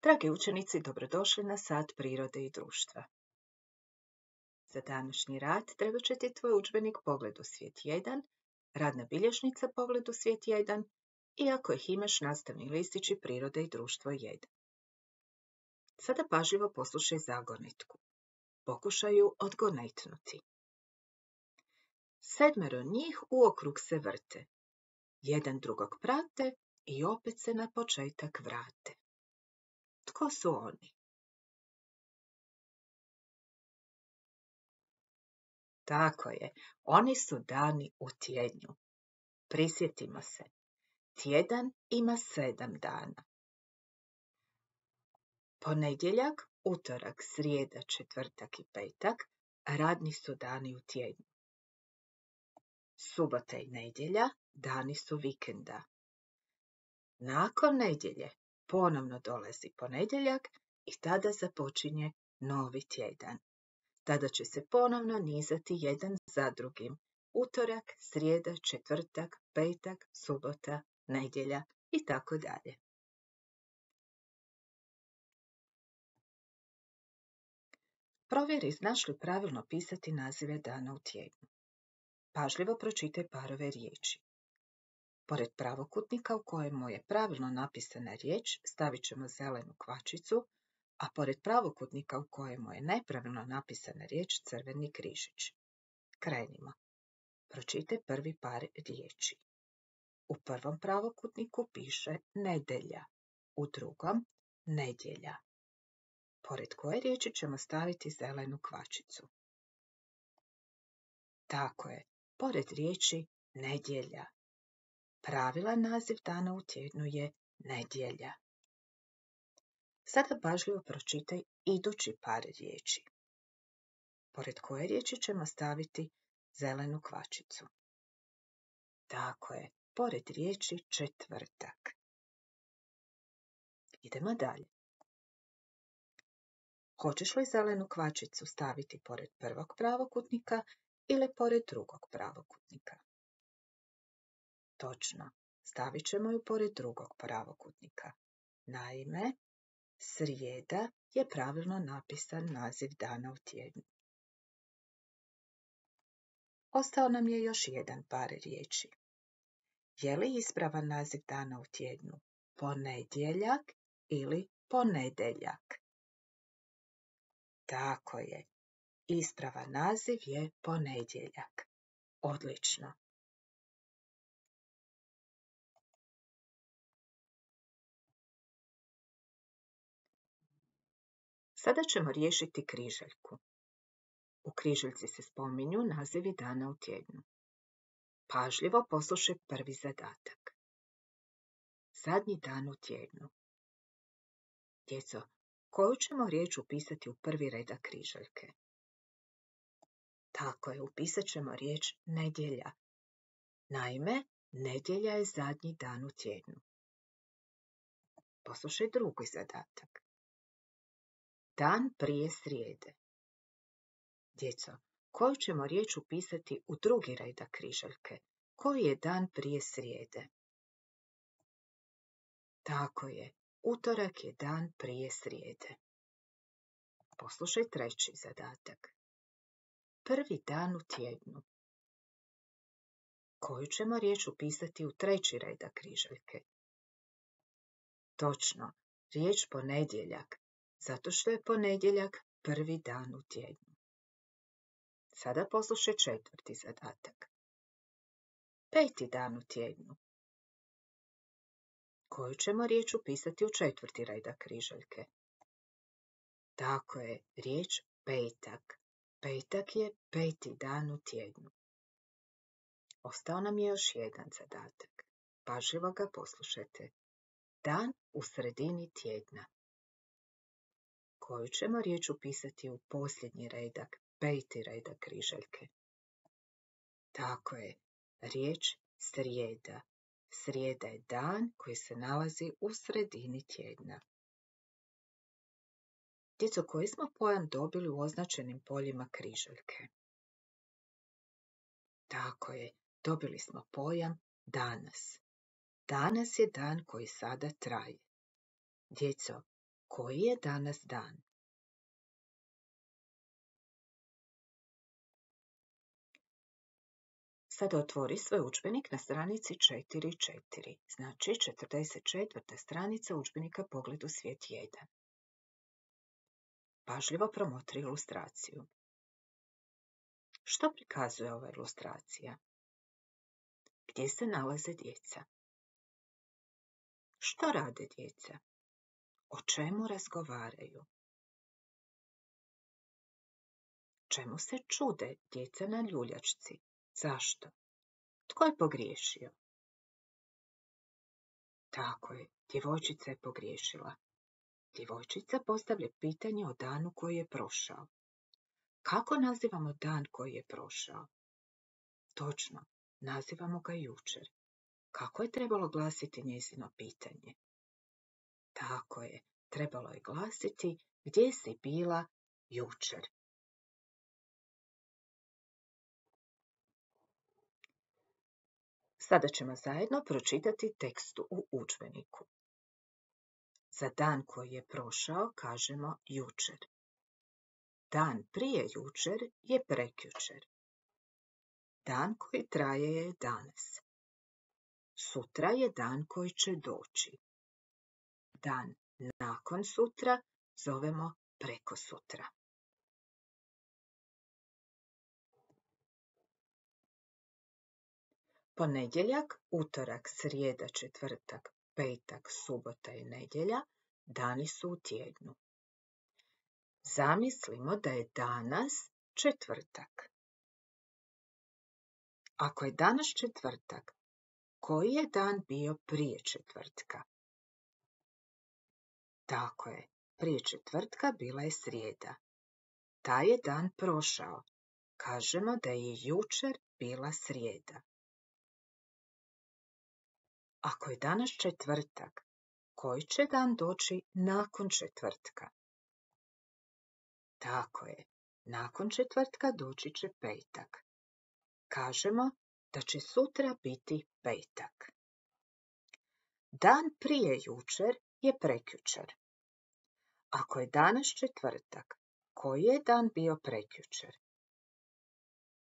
Dragi učenici, dobrodošli na sat prirode i društva. Za današnji rad trebat će ti tvoj udžbenik Pogled u svijet 1, radna bilježnica Pogled u svijet 1 i ako ih imaš nastavni listići Prirode i društvo 1. Sada pažljivo poslušaj zagonetku. Pokušaj ju odgonetnuti. 7 njih uokrug se vrte. Jedan drugog prate i opet se na početak vrate. Tko su oni? Tako je, oni su dani u tjednju. Prisjetimo se, tjedan ima 7 dana. Ponedjeljak, utorak, srijeda, četvrtak i petak radni su dani u tjednu. Subota i nedjelja dani su vikenda. Nakon nedjelje ponovno dolazi ponedjeljak i tada započinje novi tjedan. Tada će se ponovno nizati jedan za drugim. Utorak, srijeda, četvrtak, petak, subota, nedjelja i tako dalje. Provjeri znaš li pravilno pisati nazive dana u tjednu. Pažljivo pročitaj parove riječi. Pored pravokutnika u kojemu je pravilno napisana riječ stavit ćemo zelenu kvačicu, a pored pravokutnika u kojemu je nepravilno napisana riječ crveni križić. Krenimo. Pročitaj prvi par riječi. U prvom pravokutniku piše nedelja, u drugom nedjelja. Pored koje riječi ćemo staviti zelenu kvačicu? Tako je, pored riječi nedjelja. Pravilan naziv dana u tjednu je nedjelja. Sada pažljivo pročitaj idući par riječi. Pored koje riječi ćemo staviti zelenu kvačicu? Tako je, pored riječi četvrtak. Idemo dalje. Hoćeš li zelenu kvačicu staviti pored prvog pravokutnika ili pored drugog pravokutnika? Točno, stavit ćemo ju pored drugog pravokutnika. Naime, srijeda je pravilno napisan naziv dana u tjednu. Ostao nam je još jedan par riječi. Je li ispravan naziv dana u tjednu ponedjeljak ili ponedeljak? Tako je, ispravan naziv je ponedjeljak. Odlično. Sada ćemo riješiti križaljku. U križaljci se spominju nazivi dana u tjednu. Pažljivo poslušaj prvi zadatak. Zadnji dan u tjednu. Djeco, koju ćemo riječ upisati u prvi redak križaljke? Tako je, upisat ćemo riječ nedjelja. Naime, nedjelja je zadnji dan u tjednu. Poslušaj drugi zadatak. Dan prije srijede. Djeco, koju ćemo riječ upisati u drugi redak križaljke? Koji je dan prije srijede? Tako je, utorak je dan prije srijede. Poslušaj treći zadatak. Prvi dan u tjednu. Koju ćemo riječ upisati u treći redak križaljke? Točno, riječ ponedjeljak, zato što je ponedjeljak prvi dan u tjednu. Sada poslušaj četvrti zadatak. Peti dan u tjednu. Koju ćemo riječ upisati u četvrti redak križaljke? Tako je, riječ petak. Petak je peti dan u tjednu. Ostao nam je još jedan zadatak. Pažljivo ga poslušajte. Dan u sredini tjedna. Koju ćemo riječ upisati u posljednji redak, peti redak križaljke? Tako je, riječ srijeda. Srijeda je dan koji se nalazi u sredini tjedna. Djeco, koji smo pojam dobili u označenim poljima križaljke? Tako je, dobili smo pojam danas. Danas je dan koji sada traje. Djeco, Koji je danas dan? Sada otvori svoj udžbenik na stranici 4.4, znači 44. stranica udžbenika Pogled u svijet 1. Pažljivo promotri ilustraciju. Što prikazuje ova ilustracija? Gdje se nalaze djeca? Što rade djeca? O čemu razgovaraju? Čemu se čude djeca na ljuljačci? Zašto? Tko je pogriješio? Tako je, djevojčica je pogriješila. Djevojčica postavlja pitanje o danu koji je prošao. Kako nazivamo dan koji je prošao? Točno, nazivamo ga jučer. Kako je trebalo glasiti njezino pitanje? Tako je, trebalo je glasiti gdje si bila jučer. Sada ćemo zajedno pročitati tekst u udžbeniku. Za dan koji je prošao kažemo jučer. Dan prije jučer je prekjučer. Dan koji traje je danas. Sutra je dan koji će doći. Dan nakon sutra zovemo prekosutra. Ponedjeljak, utorak, srijeda, četvrtak, petak, subota i nedjelja dani su u tjednu. Zamislimo da je danas četvrtak. Ako je danas četvrtak, koji je dan bio prije četvrtka? Tako je, prije četvrtka bila je srijeda. Taj je dan prošao. Kažemo da je jučer bila srijeda. Ako je danas četvrtak, koji će dan doći nakon četvrtka? Tako je, nakon četvrtka doći će petak. Kažemo da će sutra biti petak. Dan prije jučer je prekjučer. Ako je danas četvrtak, koji je dan bio prekjučer?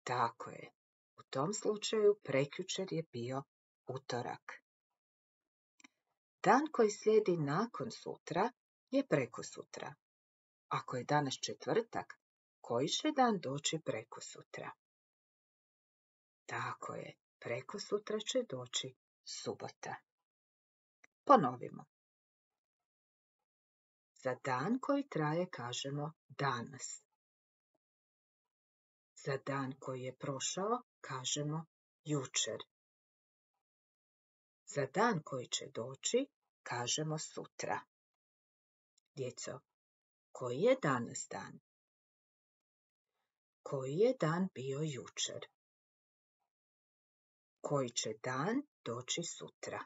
Tako je, u tom slučaju prekjučer je bio utorak. Dan koji slijedi nakon sutra je prekosutra. Ako je danas četvrtak, koji će dan doći prekosutra? Tako je, prekosutra će doći subota. Ponovimo. Za dan koji traje kažemo danas. Za dan koji je prošao kažemo jučer. Za dan koji će doći kažemo sutra. Djeco, koji je danas dan? Koji je dan bio jučer? Koji će dan doći sutra?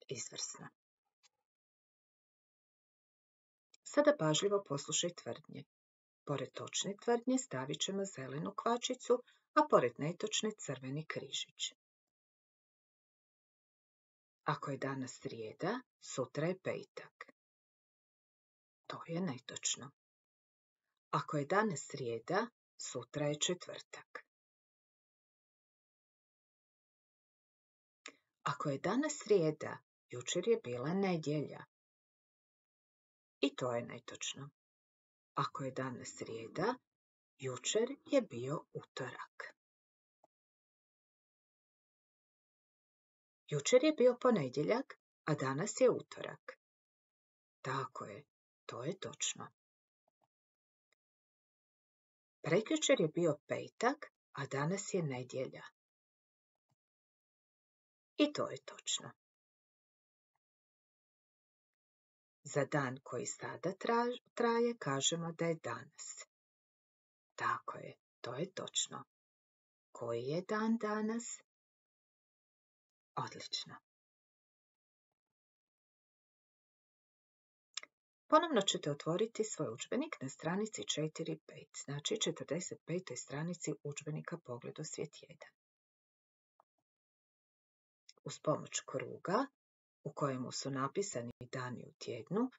Izvrsno. Sada pažljivo poslušaj tvrdnje. Pored točne tvrdnje stavit ćemo zelenu kvačicu, a pored netočne crveni križić. Ako je danas srijeda, sutra je petak. To je netočno. Ako je danas srijeda, sutra je četvrtak. Ako je danas srijeda, jučer je bila nedjelja. I to je netočno. Ako je danas srijeda, jučer je bio utorak. Jučer je bio ponedjeljak, a danas je utorak. Tako je, to je točno. Prekjučer je bio petak, a danas je nedjelja. I to je točno. Za dan koji sada traje kažemo da je danas. Tako je, to je točno. Koji je dan danas? Odlično. Ponovno ćete otvoriti svoj udžbenik na stranici 4.5, znači 45. stranici udžbenika Pogled u svijet 1. Uz pomoć kruga u kojemu su napisani dani u tjednu,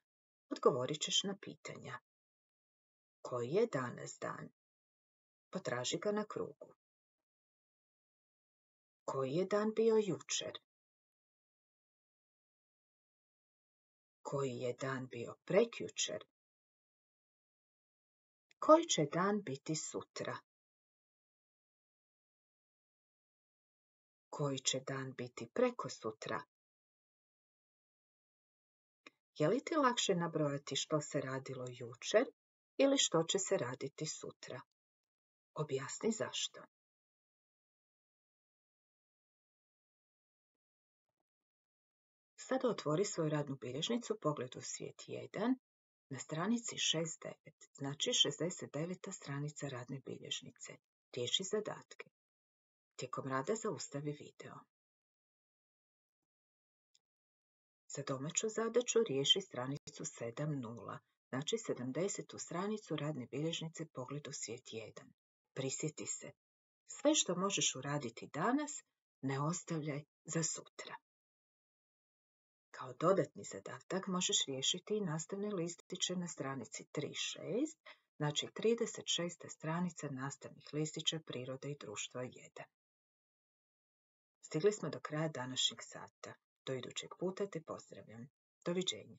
odgovorit ćeš na pitanja. Koji je danas dan? Potraži ga na krugu. Koji je dan bio jučer? Koji je dan bio prekjučer? Koji će dan biti sutra? Koji će dan biti prekosutra? Je li ti lakše nabrojati što se radilo jučer ili što će se raditi sutra? Objasni zašto. Sada otvori svoju radnu bilježnicu, pogled u svijet 1, na stranici 69, znači 69. stranica radne bilježnice. Riješi zadatke. Tijekom rada zaustavi video. Za domaću zadaću riješi stranicu 7.0, znači 70. stranicu radne bilježnice pogled u svijet 1. Prisjeti se, sve što možeš uraditi danas, ne ostavljaj za sutra. Kao dodatni zadatak možeš riješiti i nastavne listiće na stranici 3.6, znači 36. stranica nastavnih listića Prirode i društva 1. Stigli smo do kraja današnjeg sata. Do idućeg puta te pozdravljam. Doviđenja.